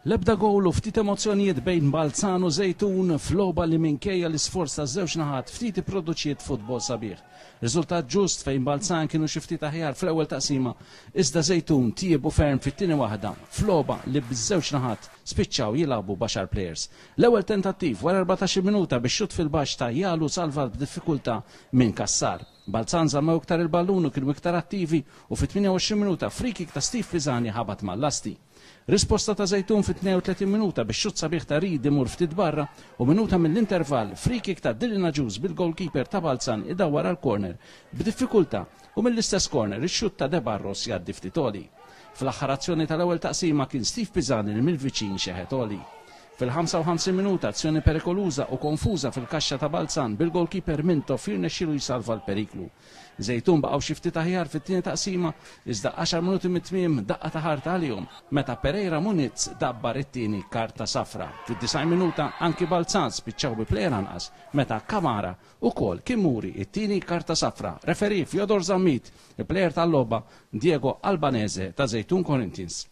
L-ebda gowl u ftit emozzjonijiet bejn Balzan u Żejtun f'logħba li minkejja l-isforz taż-żewġ naħat ftit ipproduċiet futbol sabiħ. Riżultat ġust fejn Balzan kienu xi ftit aħjar fl-ewwel taqsima iżda Żejtun tjiebu ferm fit-tieni waħda f'logħba li biż-żewġ naħat spiċċaw jilagħbu b'għaxar plejers. L-ewwel tentattiv wara 14-il minuta bix-xutt fil-baxx ta' Jalu salvat b'diffikultà minn Cassar. Balzan żammew iktar il-ballun u kienu iktar attivi u fit-28 minuta free-kick ta' Steve Pisani ħabat mal-lasti. Risposta ta' Żejtun fit-32 minuta bix-xutt sabiħ ta' Reid imur ftit barra u minuta mill-intervall free-kick ta' Dylan Agius bil-goalkeeper ta' Balzan idawwar għal corner b'diffikultà u mill-istess corner ix-xutt ta' De Barros jgħaddi ftit għoli. Fl-aħħar azzjoni tal-ewwel taqsima kien Steve Pisani li mill-viċin xeħet għoli. Fil-55 minuta azzjoni perikoluża u konfuża fil-kaxxa ta' Balzan bil-goalkeeper Mintoff jirnexxilu jsalva l-periklu. Żejtun baqgħu xi ftit aħjar fit-tieni taqsima iżda għaxar minuti mit-tmiem daqqa ta' ħarta għalihom meta Pereira Muniz dabbar it-tieni karta safra. Fid-90 minuta anki Balzan spiċċaw bi plejer anqas meta Kamara ukoll kien muri t-tieni karta safra. Referee Fyodor Zammit, il-plejer tal-logħba Diego Albanese ta' Żejtun Corinthians.